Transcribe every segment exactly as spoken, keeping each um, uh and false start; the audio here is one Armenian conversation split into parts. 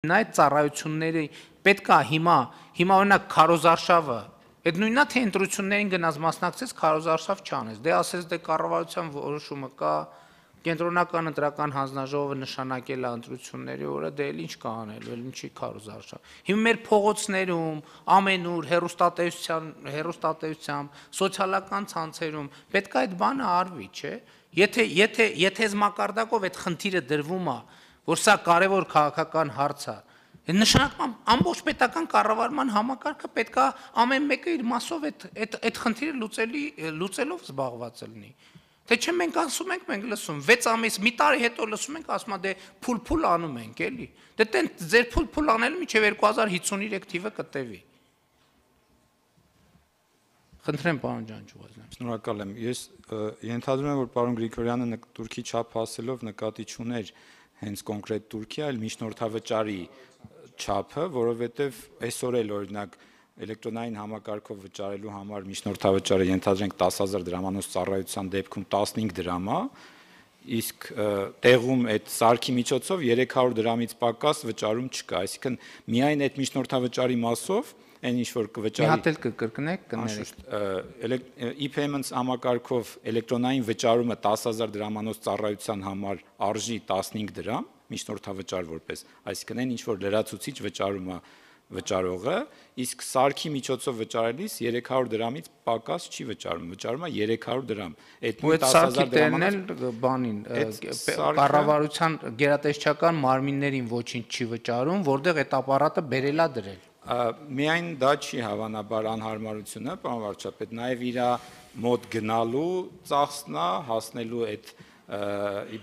Այդ ծառայությունների պետք է հիմա, հիմա օրինակ քարոզարշավը, այդ նույնն է թե ընտրություններին գնաց մասնակցեց, քարոզարշավ չանեց, դե ասես դե կառավարության որոշումը կա, կենտրոնական ընտրական հանձնաժողովը նշանակել է ընտրությունների օրը, դե էլ ինչ կա անել, էլ ինչի քարոզարշավ։ Հիմա մեր փողոցներում, ամենուր, հեռուստատեսության, հեռուստատեսությամբ, սոցիալական ցանցերում պետք է այդ բանը արվի, չէ՞։ Եթե եթե եթե այս մակարդակով այդ խնդիրը դրվում է, որ սա կարևոր քաղաքական հարց է, նշանակում ամբողջ պետական կառավարման համակարգը պետք է ամեն մեկը իր մասով այդ այդ այդ խնդիրը լուծելի լուծելով զբաղված լինի։ Թե չէ մենք ասում ենք, մենք լսում վեց ամիս, մի տարի հետո լսում ենք, ասում է դե փուլ-փուլ անում ենք, էլի։ Դե տեն ձեր փուլ-փուլ անելը մինչև երկու հազար հիսուներեք թիվը կտևի։ Խնդրեմ, պարոն Ջանջուղազյան։ Շնորհակալ եմ։ Ես ենթադրում եմ, որ պարոն Գրիգորյանը Թուրքի չափ ասելով նկատի չուներ հենց կոնկրետ Թուրքիա, այլ միջնորդավճարի չափը, որովհետև այսօր էլ օրինակ էլեկտրոնային համակարգով վճարելու համար միջնորդավճարը ենթադրենք տասը հազար դրամանոց ծառայության դեպքում տասնհինգ դրամ է, իսկ տեղում այդ սարքի միջոցով երեք հարյուր դրամից պակաս վճարում չկա, այսինքն միայն այդ միջնորդավճարի մասով այն ինչ որ կվճարի։ Մի հատ էլ կկրկնեք, կներեք։ E-payments համակարգով էլեկտրոնային վճարումը տասը հազար դրամանոց ծառայության համար արժի տասնհինգ դրամ, միջնորդավճար որպես, այսինքն այն ինչ որ լրացուցիչ վճարում է վճարողը, իսկ սարքի միջոցով վճարելիս երեք հարյուր դրամից պակաս չի վճարում, վճարում է երեք հարյուր դրամ։ Այդ տասը հազար դրամից բանին կառավարության գերատեսչական մարմիններին ոչինչ չի վճարում, որտեղ այդ ապարատը բերելա դրել։ Միայն դա չի հավանաբար անհարմարությունը, պարոն վարչապետ, նաև իր մոտ գնալու ծախսն է, հասնելու այդ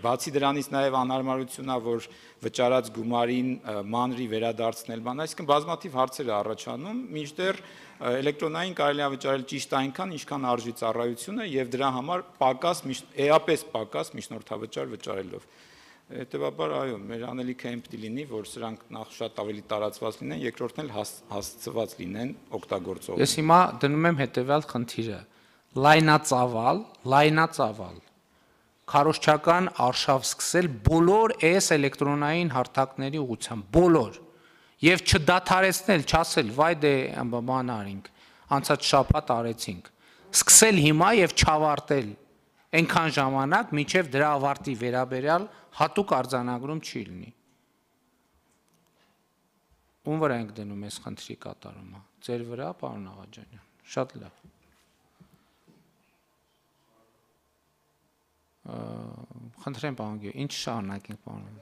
բացի դրանից նաև անհարմարությունն է, որ վճարած գումարին մանրի վերադարձնել բան, այսինքն բազմաթիվ հարցեր է առաջանում, մինչդեռ էլեկտրոնային կարելի է վճարել ճիշտ այնքան, ինչքան արժի ծառայությունը եւ դրա համար պակաս էապես պակաս միջնորդավճար վճարելով։ Հետևաբար այո, մեր անելիքը այն պիտի լինի, որ սրանք նախ շատ ավելի տարածված լինեն, երկրորդն էլ հասցված լինեն օգտագործողին։ Ես հիմա դնում եմ հետևյալ խնդիրը. լայնածավալ, լայնածավալ քարոզչական արշավ սկսել բոլոր այս էլեկտրոնային հարթակների ուղղությամբ, բոլոր, եւ չդադարեցնել, չասել, վայ դե բան արինք, անցած շաբաթ արեցինք, սկսել հիմա եւ չավարտել այնքան ժամանակ, մինչև դրա ավարտի վերաբերյալ հատուկ արձանագրում չի լինի։ Ում վրա ենք դնում այս խնդրի կատարումը։ Ձեր վրա, պարոն Աղաջանյան։ Շատ լավ։ Խնդրեմ, պարոն Գյուղ, ինչ շարունակենք, պարոն։